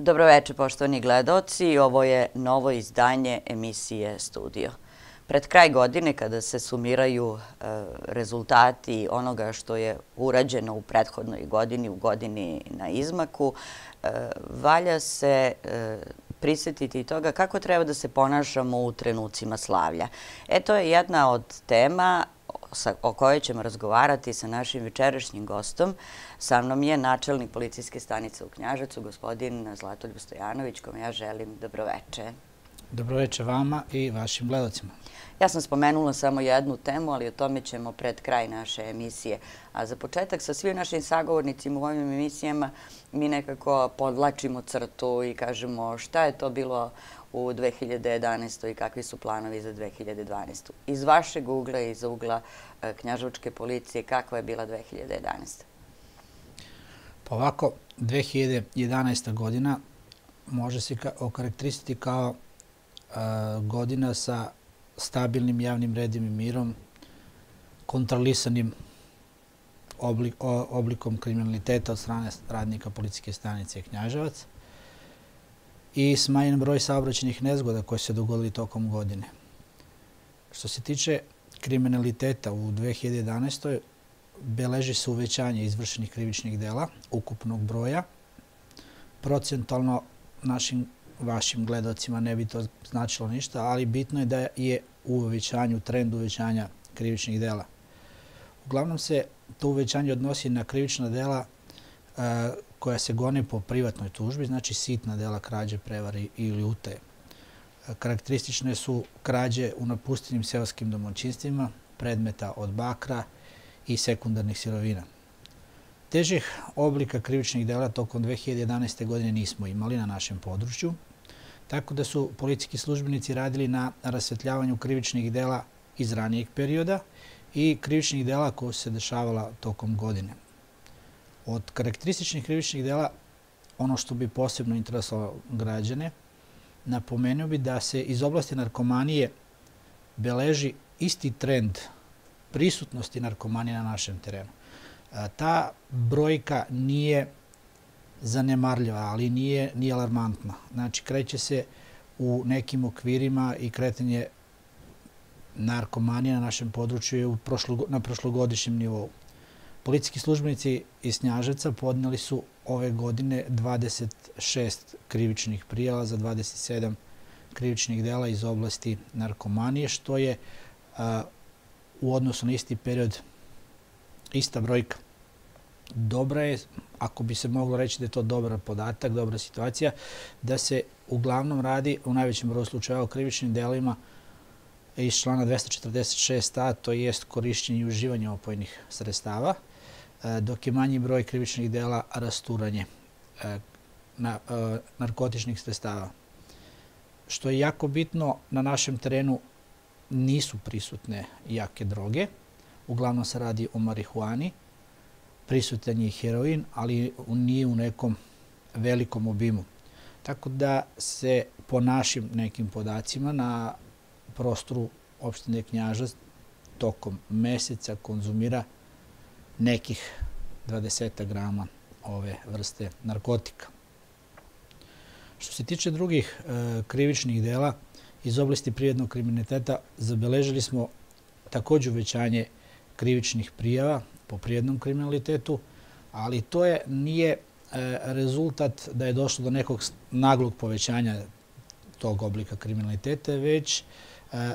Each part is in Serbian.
Dobroveče, poštovani gledaoci. Ovo je novo izdanje emisije Studio. Pred kraj godine, kada se sumiraju rezultati onoga što je urađeno u prethodnoj godini, u godini na izmaku, valja se prisjetiti toga kako treba da se ponašamo u trenucima slavlja. To je jedna od tema o kojoj ćemo razgovarati sa našim večerašnjim gostom. Sa mnom je načelnik policijske stanice u Knjaževcu, gospodin Zlatoljub Stojanović, kome ja želim dobroveče. Dobroveče vama i vašim gledalcima. Ja sam spomenula samo jednu temu, ali o tome ćemo pred kraj naše emisije. A za početak, sa svim našim sagovornicima u ovim emisijama mi nekako podvlačimo crtu i kažemo šta je to bilo u 2011. i kakvi su planovi za 2012. Iz vašeg ugla i iz ugla Knjaževačke policije, kakva je bila 2011? Pa ovako, 2011. godina može se okarakterisati kao godina sa stabilnim javnim redom i mirom, kontrolisanim oblikom kriminaliteta od strane radnika policijske stanice Knjaževac i smanjen broj saobraćajnih nezgoda koje se dogodili tokom godine. Što se tiče kriminaliteta u 2011. beleži se uvećanje izvršenih krivičnih dela, ukupnog broja. Procentualno našim vašim gledalcima ne bi to značilo ništa, ali bitno je da je u uvećanju, trend uvećanja krivičnih dela. Uglavnom se to uvećanje odnosi na krivična dela koja se gone po privatnoj tužbi, znači sitna dela krađe, prevare ili utaje. Karakteristične su krađe u napuštenim seoskim domaćinstvima, predmeta od bakra i sekundarnih sirovina. Težih oblika krivičnih dela tokom 2011. godine nismo imali na našem području, tako da su policijski službenici radili na rasvetljavanju krivičnih dela iz ranijeg perioda i krivičnih dela koja su se dešavala tokom godine. Od karakterističnih krivičnih dela, ono što bi posebno interesovalo građane, napomenuo bi da se iz oblasti narkomanije beleži isti trend prisutnosti narkomanije na našem terenu. Ta brojka nije zanemarljiva, ali nije alarmantna. Znači, kreće se u nekim okvirima i kretanje narkomanije na našem području je na prošlogodišnjem nivou. Policijski službenici iz Knjaževca podneli su ove godine 26 krivičnih prijava za 27 krivičnih dela iz oblasti narkomanije, što je u odnosu na isti period ista brojka. Dobra je, ako bi se moglo reći da je to dobar podatak, dobra situacija, da se uglavnom radi u najvećem broju slučajeva o krivičnim delima iz člana 246a, to jest korišćenje i uživanje opojnih sredstava, dok je manji broj krivičnih dela rasturanje narkotičnih sredstava. Što je jako bitno, na našem terenu nisu prisutne jake droge, uglavnom se radi o marihuani, prisutan je i heroin, ali nije u nekom velikom obimu. Tako da se po našim nekim podacima na prostoru opštine Knjaževac tokom meseca konzumira nekih 20 grama ove vrste narkotika. Što se tiče drugih krivičnih dela iz oblasti privrednog kriminaliteta, zabeležili smo također uvećanje krivičnih prijava po privrednom kriminalitetu, ali to nije rezultat da je došlo do nekog naglog povećanja tog oblika kriminaliteta, već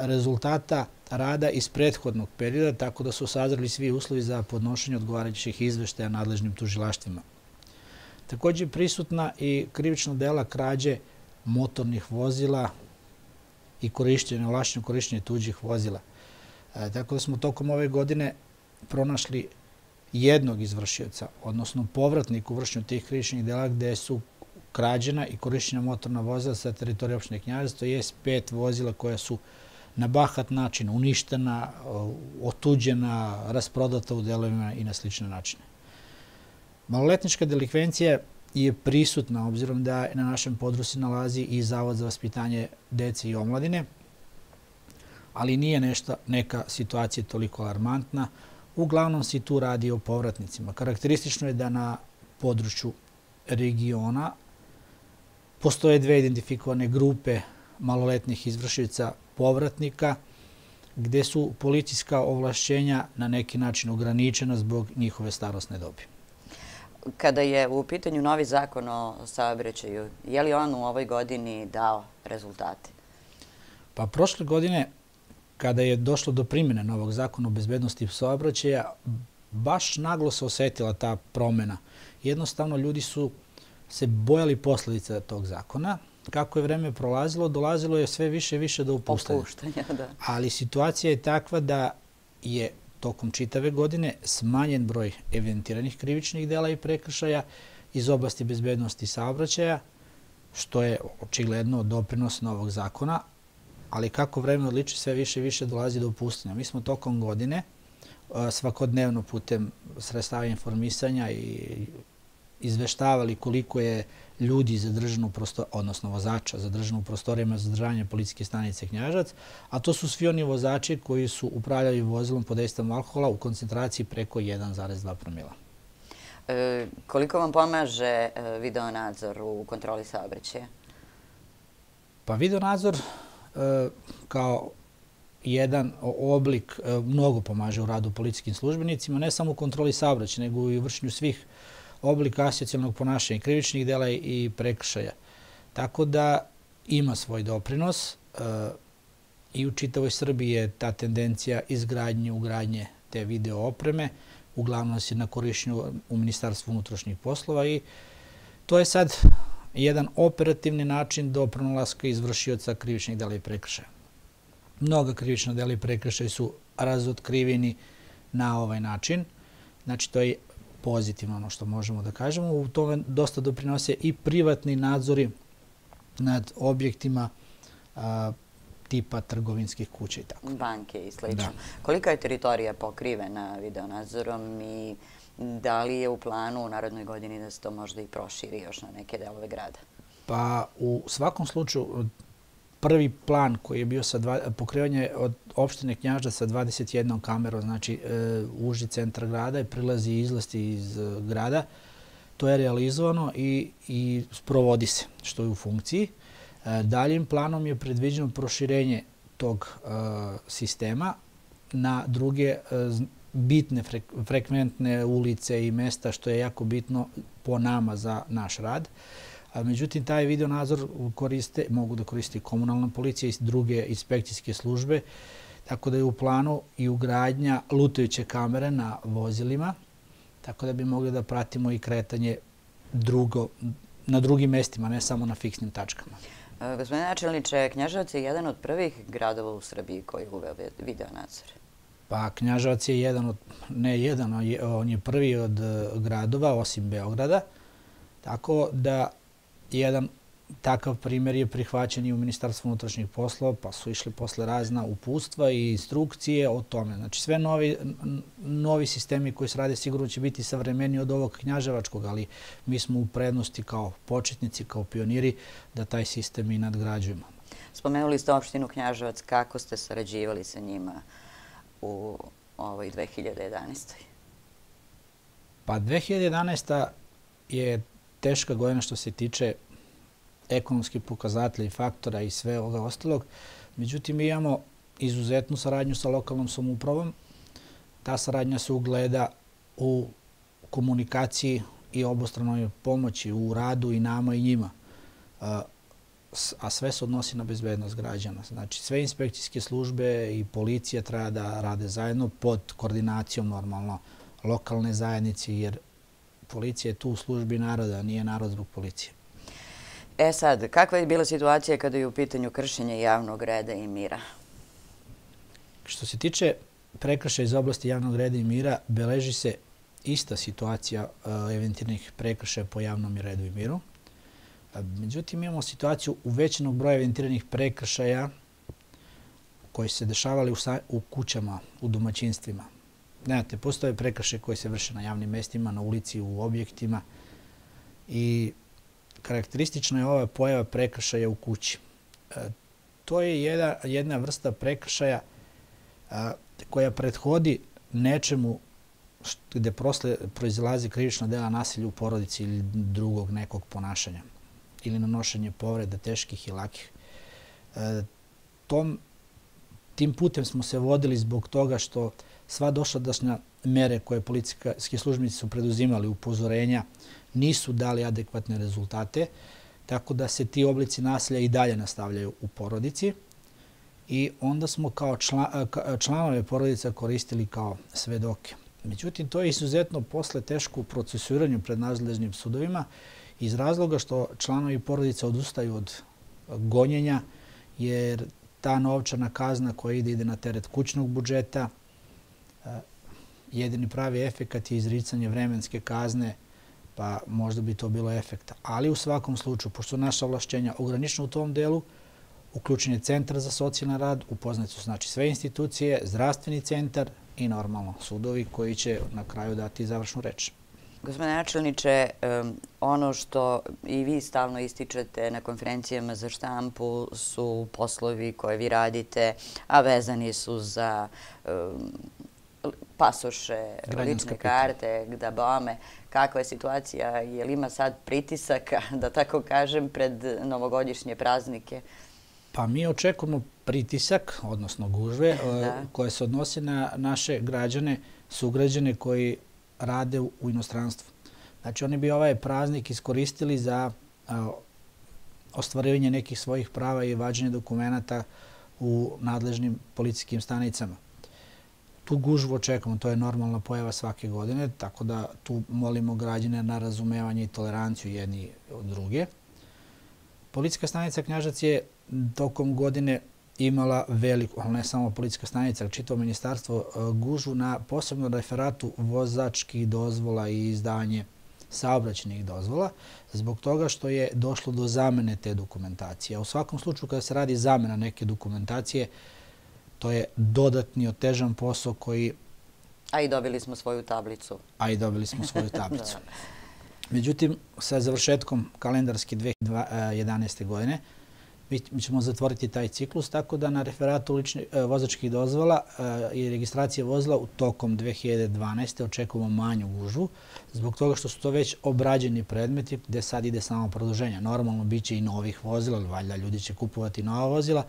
rezultata rada iz prethodnog perioda, tako da su sazreli svi uslovi za podnošenje odgovarajućih izveštaja nadležnim tužilaštvima. Također prisutna i krivična dela krađe motornih vozila i ovlašćeno korišćenje tuđih vozila. Tako da smo tokom ove godine pronašli jednog izvršioca, odnosno povratnik u vršenju tih krivičnih dela gde su krađena i korišćena motorna vozila sa teritorije opštine Knjaževac, to je 5 vozila koja su na bahat način uništena, otuđena, rasprodata u delovima i na slične načine. Maloletnička delikvencija je prisutna, obzirom da na našem području nalazi i Zavod za vaspitanje dece i omladine, ali nije neka situacija toliko alarmantna. Uglavnom se tu radi o povratnicima. Karakteristično je da na području regiona Postoje dve identifikovane grupe maloletnih izvršioca povratnika, gde su policijska ovlašćenja na neki način ograničena zbog njihove starosne dobi. Kada je u pitanju novi zakon o saobraćaju, je li on u ovoj godini dao rezultate? Pa prošle godine, kada je došlo do primjene novog zakona o bezbednosti saobraćaja, baš naglo se osetila ta promjena. Jednostavno, ljudi su se bojali posljedica tog zakona. Kako je vreme prolazilo, dolazilo je sve više i više do opuštanja. Ali situacija je takva da je tokom čitave godine smanjen broj evidentiranih krivičnih dela i prekršaja iz oblasti bezbednosti saobraćaja, što je očigledno doprinos novog zakona, ali kako vreme odliči, sve više i više dolazi do opuštanja. Mi smo tokom godine svakodnevno putem sredstava informisanja i izveštavali koliko je ljudi zadržano, odnosno vozača zadržano u prostorijama za zadržavanje policijske stanice Knjaževac, a to su svi oni vozači koji su upravljali vozilom pod dejstvom alkohola u koncentraciji preko 1,2 promila. Koliko vam pomaže videonadzor u kontroli saobraćaja? Pa videonadzor kao jedan oblik mnogo pomaže u radu policijskim službenicima, ne samo u kontroli saobraćaja, nego i u vršenju svih oblika asocijalnog ponašanja, krivičnih dela i prekršaja. Tako da ima svoj doprinos i u čitavoj Srbiji je ta tendencija ugradnje te video opreme, uglavnom se na korišćenju u Ministarstvu unutrašnjih poslova i to je sad jedan operativni način do pronalaska izvršioca krivičnih dela i prekršaja. Mnoga krivična dela i prekršaja su razotkriveni na ovaj način. Znači, to je pozitivno ono što možemo da kažemo. U tome dosta doprinose i privatni nadzori nad objektima tipa trgovinskih kuća i tako. Banke i slično. Kolika je teritorija pokrivena videonadzorom i da li je u planu u narednoj godini da se to možda i proširi još na neke delove grada? Pa u svakom slučaju prvi plan koji je bio pokrivanje od opštine Knjaževac sa 21 kamerom, znači uži centar grada i prilazi i izlasti iz grada, to je realizovano i sprovodi se, što je u funkciji. Daljim planom je predviđeno proširenje tog sistema na druge bitne, frekventne ulice i mesta, što je jako bitno po nama za naš rad. Međutim, taj videonadzor mogu da koriste komunalna policija i druge inspekcijske službe, tako da je u planu i ugradnja lutajuće kamere na vozilima, tako da bi mogli da pratimo i kretanje na drugim mestima, ne samo na fiksnim tačkama. Gospodine načelniče, Knjaževac je jedan od prvih gradova u Srbiji koji je uveo videonadzor. Pa Knjaževac je on je prvi od gradova, osim Beograda, tako da jedan takav primjer je prihvaćen i u Ministarstvu unutrašnjih poslova, pa su išli posle razna uputstva i instrukcije o tome. Znači, sve novi sistemi koji se rade sigurno će biti savremeniji od ovog knjaževačkog, ali mi smo u prednosti kao početnici, kao pioniri, da taj sistem i nadgrađujemo. Spomenuli ste opštinu Knjaževac, kako ste sarađivali sa njima u ovoj 2011. Pa 2011. je teška godina što se tiče ekonomskih pokazatelja i faktora i sve ovoga ostalog. Međutim, mi imamo izuzetnu saradnju sa lokalnom samoupravom. Ta saradnja se ugleda u komunikaciji i obostranoj pomoći u radu i nama i njima. A sve se odnosi na bezbednost građana. Znači, sve inspekcijske službe i policija treba da rade zajedno pod koordinacijom normalno lokalne zajednice, jer policija je tu u službi naroda, nije narod zbog policije. Sad, kakva je bila situacija kada je u pitanju kršenja javnog reda i mira? Što se tiče prekršaja iz oblasti javnog reda i mira, beleži se ista situacija evidentiranih prekršaja po javnom redu i miru. Međutim, imamo situaciju uvećenog broja evidentiranih prekršaja koji se dešavali u kućama, u domaćinstvima. Znate, postoje prekršaje koji se vrše na javnim mestima, na ulici, u objektima i karakteristična je ova pojava prekršaja u kući. To je jedna vrsta prekršaja koja prethodi nečemu gde proizilazi krivično dela nasilja u porodici ili drugog nekog ponašanja. ili nanošenje povreda teških i lakih. Tim putem smo se vodili zbog toga što sva dosadašnja mere koje policijski službenici su preduzimali, upozorenja, nisu dali adekvatne rezultate, tako da se ti oblici nasilja i dalje nastavljaju u porodici. I onda smo kao članove porodica koristili kao svedoke. Međutim, to je izuzetno posle teško u procesuiranju pred nadležnim sudovima iz razloga što članovi porodica odustaju od gonjenja, jer ta novčana kazna koja ide na teret kućnog budžeta, jedini pravi efekat je izricanje vremenske kazne, pa možda bi to bilo efekta. Ali u svakom slučaju, pošto naša ovlašćenja ograničena u tom delu, uključen je Centar za socijalni rad, upoznati su znači sve institucije, zdravstveni centar i normalno sudovi koji će na kraju dati završnu reč. Gospodine načelniče, ono što i vi stalno ističete na konferencijama za štampu su poslovi koje vi radite, a vezani su za pasoše, lične karte, gdabome. Kakva je situacija? Je li ima sad pritisaka, da tako kažem, pred novogodišnje praznike? Pa mi očekujemo pritisak, odnosno gužve, koje se odnose na naše građane, sugrađane koji rade u inostranstvu. Znači, oni bi ovaj praznik iskoristili za ostvarivanje nekih svojih prava i vađenje dokumenta u nadležnim policijskim stanicama. Tu gužvu očekujemo, to je normalna pojava svake godine, tako da tu molimo građane na razumevanje i toleranciju jedni od druge. Policijska stanica Knjažac je tokom godine imala veliku, ali ne samo policijska stanica, ali čitavo ministarstvo, gužvu na posebno referatu vozačkih dozvola i izdavanje saobraćajnih dozvola, zbog toga što je došlo do zamene te dokumentacije. U svakom slučaju, kada se radi zamena neke dokumentacije, to je dodatni otežan posao koji... A i dobili smo svoju tablicu. Međutim, sa završetkom kalendarske 2011. godine, mi ćemo zatvoriti taj ciklus, tako da na referatu vozačkih dozvola i registracije vozila u tokom 2012. očekujemo manju gužvu, zbog toga što su to već obrađeni predmeti gde sad ide samo produženje. Normalno bit će i novih vozila, valjda ljudi će kupovati nova vozila,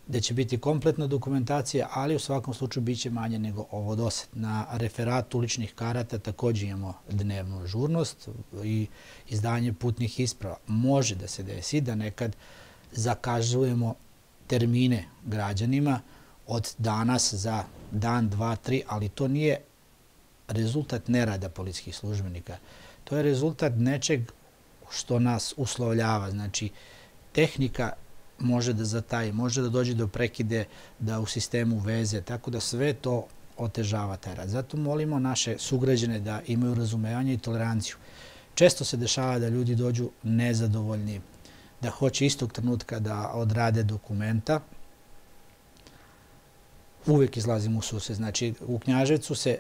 gde će biti kompletna dokumentacija, ali u svakom slučaju bit će manje nego ovo dosad. Na referatu ličnih karata također imamo dnevnu ažurnost i izdanje putnih isprava. Može da se desi da nekad zakazujemo termine građanima od danas za dan, dva, tri, ali to nije rezultat nerada policijskih službenika. To je rezultat nečeg što nas uslovljava. Znači, tehnika može da zataji, može da dođe do prekide, da u sistemu veze, tako da sve to otežava taj rad. Zato molimo naše sugrađane da imaju razumevanje i toleranciju. Često se dešava da ljudi dođu nezadovoljni, da hoće istog trenutka da odrade dokumenta. Uvijek izlazimo u susret. Znači, u Knjaževcu se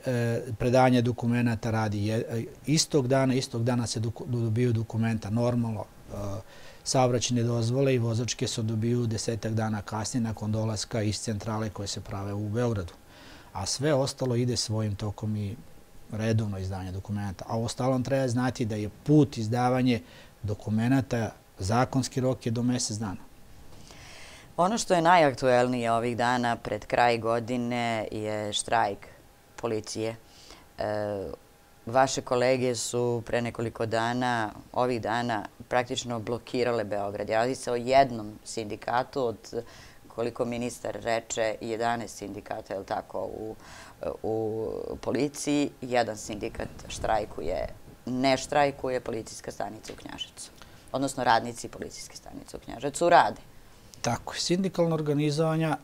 predavanje dokumenta radi istog dana se dobiju dokumenta normalno. Saobraćajne dozvole i vozačke se dobiju 10 dana kasnije nakon dolaska iz centrale koje se prave u Beogradu. A sve ostalo ide svojim tokom i redovno izdavanje dokumenta. A u ostalom treba znati da je put izdavanje dokumenta, zakonski rok je do mjesec dana. Ono što je najaktuelnije ovih dana pred kraj godine je štrajk policije. Vaše kolege su pre nekoliko dana, ovih dana, praktično blokirale Beograd. Radi se o jednom sindikatu od, koliko ministar reče, 11 sindikata, je li tako, u policiji. Jedan sindikat štrajkuje, ne štrajkuje policijska stanica u Knjaževcu. Odnosno radnici policijske stanice u Knjaževcu rade. Tako je. Sindikalna organizovanja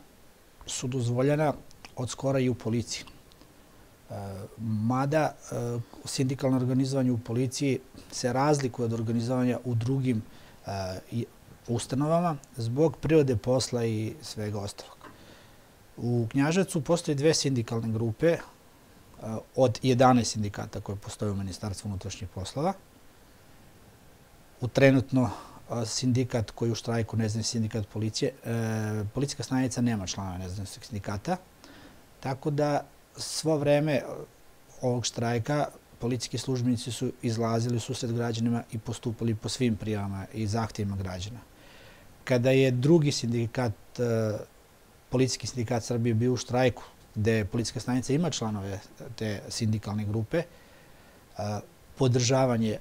su dozvoljena od skora i u policiji. Mada sindikalno organizovanje u policiji se razlikuje od organizovanja u drugim ustanovama zbog prirode posla i svega ostalog. U Knjaževcu postoje dve sindikalne grupe od 11 sindikata koje postoje u Ministarstvu unutrašnjih poslova. U trenutno sindikat koji u štrajku, nezavisni sindikat policije, policijska stanica nema člana nezavisnog sindikata, tako da svo vreme ovog štrajka policijski službenici su izlazili u susret građanima i postupali po svim prijavama i zahtjevima građana. Kada je drugi sindikat, policijski sindikat Srbije bio u štrajku, gde policijska stanica ima članove te sindikalne grupe, podržavan je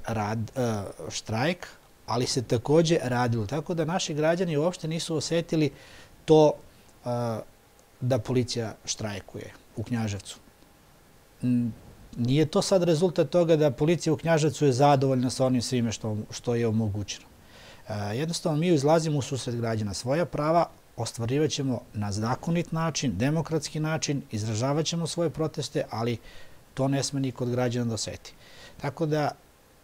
štrajk, ali se također radilo. Tako da naši građani uopšte nisu osjetili to da policija štrajkuje u Knjaževcu. Nije to sad rezultat toga da policija u Knjaževcu je zadovoljna sa onim svime što je omogućeno. Jednostavno, mi izlazimo u susret građana. Svoja prava ostvarivat ćemo na zakonit način, demokratski način, izražavat ćemo svoje proteste, ali to ne sme niko od građana da osjeti. Tako da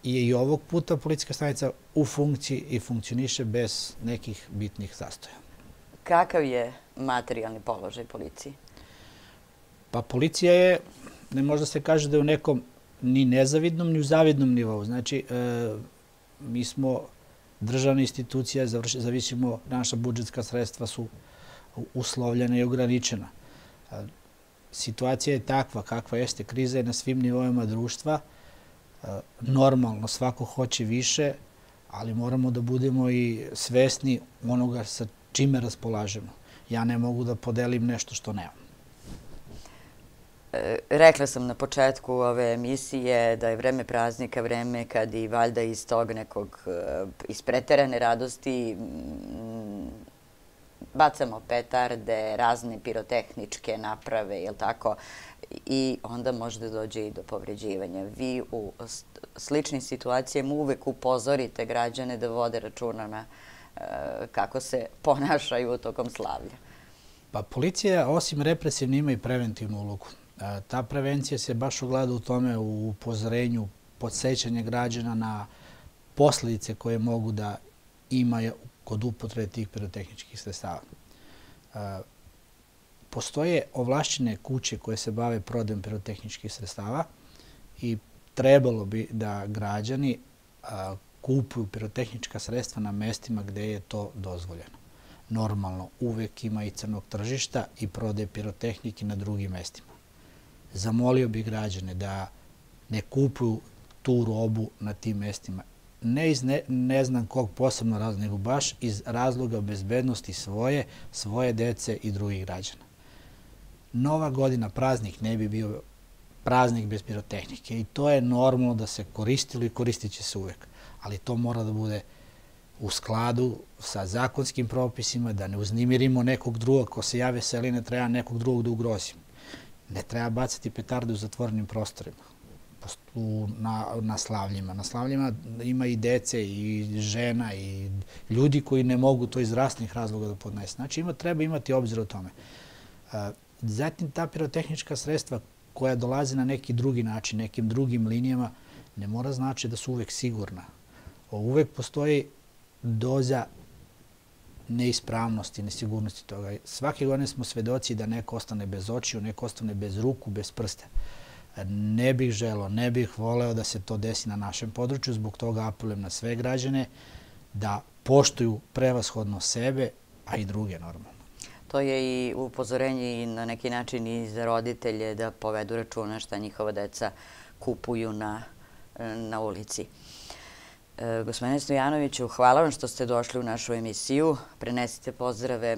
je i ovog puta policijska stanica u funkciji i funkcioniše bez nekih bitnih zastoja. Kakav je materijalni položaj policije? Pa policija je, ne možda se kaže da je u nekom ni nezavidnom, ni u zavidnom nivou. Znači, mi smo državna institucija, zavisimo, naša budžetska sredstva su uslovljena i ograničena. Situacija je takva kakva jeste, kriza je na svim nivoima društva. Normalno, svako hoće više, ali moramo da budemo i svesni onoga sa čime raspolažemo. Ja ne mogu da podelim nešto što nemam. Rekla sam na početku ove emisije da je vreme praznika, vreme kad i valjda iz tog nekog, iz preterane radosti bacamo petarde, razne pirotehničke naprave, jel tako? I onda može da dođe i do povređivanja. Vi u sličnim situacijama uvek upozorite građane da vode računa na kako se ponašaju tokom slavlja. Pa policija, osim represivne, ima i preventivnu ulogu. Ta prevencija se baš ogleda u tome, u upozorenju, podsjećanje građana na posljedice koje mogu da imaju kod upotrebe tih pirotehničkih sredstava. Postoje ovlašćene kuće koje se bave prodajom pirotehničkih sredstava i trebalo bi da građani kupuju pirotehnička sredstva na mestima gde je to dozvoljeno. Normalno, uvek ima i crnog tržišta i prodaje pirotehnike na drugim mestima. Zamolio bih građane da ne kupuju tu robu na tim mestima. Ne iz ne znam kog posebno razloga, nego baš iz razloga bezbednosti svoje dece i drugih građana. Nova godina, praznik, ne bi bio praznik bez pirotehnike i to je normalno da se koristilo i koristit će se uvek. Ali to mora da bude u skladu sa zakonskim propisima, da ne uznemirimo nekog drugog, ko se jave seli, ne treba nekog drugog da ugrozimo. Ne treba bacati petarde u zatvorenim prostorima, na slavljima. Na slavljima ima i dece, i žena, i ljudi koji ne mogu to iz zdravstvenih razloga da podnesu. Znači, treba imati obzir o tome. Zatim, ta pirotehnička sredstva koja dolaze na neki drugi način, nekim drugim linijama, ne mora znači da su uvek sigurna. Uvek postoji doza neispravnosti, nesigurnosti toga. Svake godine smo svedoci da neko ostane bez očiju, neko ostane bez ruku, bez prsta. Ne bih želeo, ne bih voleo da se to desi na našem području, zbog toga apelujem na sve građane da poštuju prevashodno sebe, a i druge normalno. To je i upozorenje i na neki način i za roditelje da povedu računa šta njihova deca kupuju na ulici. Gospodine Stojanoviću, hvala vam što ste došli u našu emisiju. Prenesite pozdrave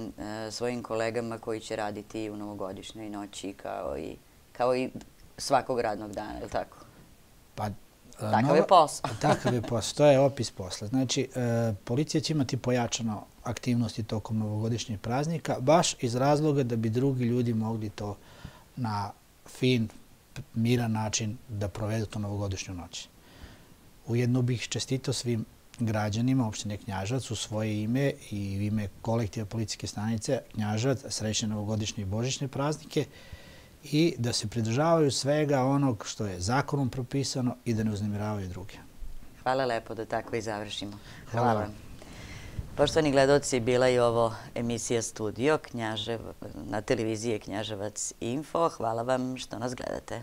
svojim kolegama koji će raditi u novogodišnjoj noći kao i svakog radnog dana, je li tako? Pa, takav je posao. Takav je posao, to je opis posla. Znači, policija će imati pojačano aktivnosti tokom novogodišnjih praznika, baš iz razloga da bi drugi ljudi mogli to na fin, miran način da provedu to novogodišnju noć. Ujedno bih čestitao svim građanima opštine Knjaževac u svoje ime i u ime kolektiva policijske stanice Knjaževac srećne novogodišnje i božićne praznike i da se pridržavaju svega onog što je zakonom propisano i da ne uznemiravaju druge. Hvala lepo da tako i završimo. Hvala vam. Poštovani gledaoci, bila je ovo emisija Studio na televiziji Knjaževac Info. Hvala vam što nas gledate.